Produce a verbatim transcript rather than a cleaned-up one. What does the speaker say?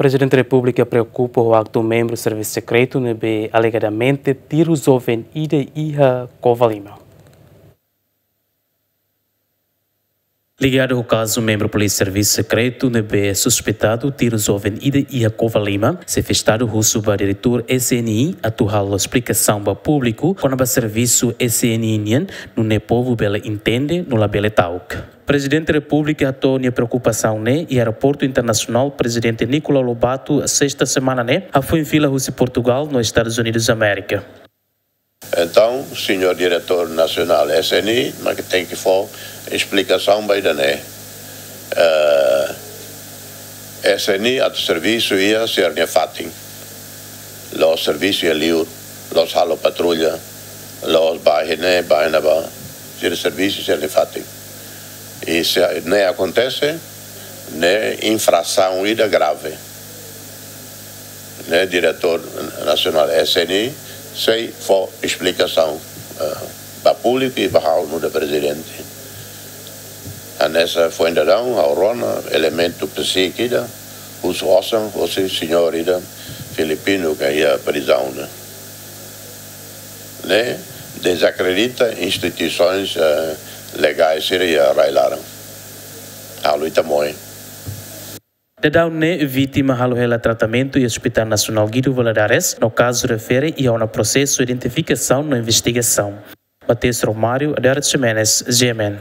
Prezidente Repúblika preokupa ho aktu membru servisu sekretu ne'ebé alegadamente tiru joven ida iha Covalima. Ligadu ho kazu membru polísia servisu sekretu ne'ebé suspeitadu tiru joven ida iha Covalima, xefe Estadu husu ba diretór S N I atu halo esplikasaun ba públiku kona-ba servisu S N I nian, nune'e povu bele entende no labele ta'uk. Prezidente Repúblika hato'o nia preokupasaun ne'e iha Aeroportu Internasionál Prezidente Nicolau Lobato, sesta semana ne'e, hafoin fila husi Portugal no Estadus Unidus Amérika. Entaun, señór diretór nasionál S N I, mak tenke fó esplikasaun ba ida-ne'e. Eh, S N I atu servisu iha sira-nia fatin. La'ós servisu iha liur, la'ós halo patrulla, la'ós bá iha ne'e, bá iha ne'ebá, sira servisu sira-nia fatin. I se ne'e akontese, ne'e infrasaun ida grave. Ne'e diretór nasionál S N I sei fó esplikasaun, eh, ba públiku i ba ha'u nu'udar prezidente. Hanesan foin dadaun, ha'u rona elementu psíkiku ida, husu osan, husi señór ida filipinu ke iha prizaun ne'e. Ne'e dezakredita instituisoens, eh, legais sira iha rai-laran. Halo ita moe. Dadaun ne'e vítima halo hela tratamentu iha Hospital Nasionál Guido Valadares, no kazu refere iha ona prosesu identifikasaun no investigasaun. Mateus Romário, Adalberto Ximenes, G M N.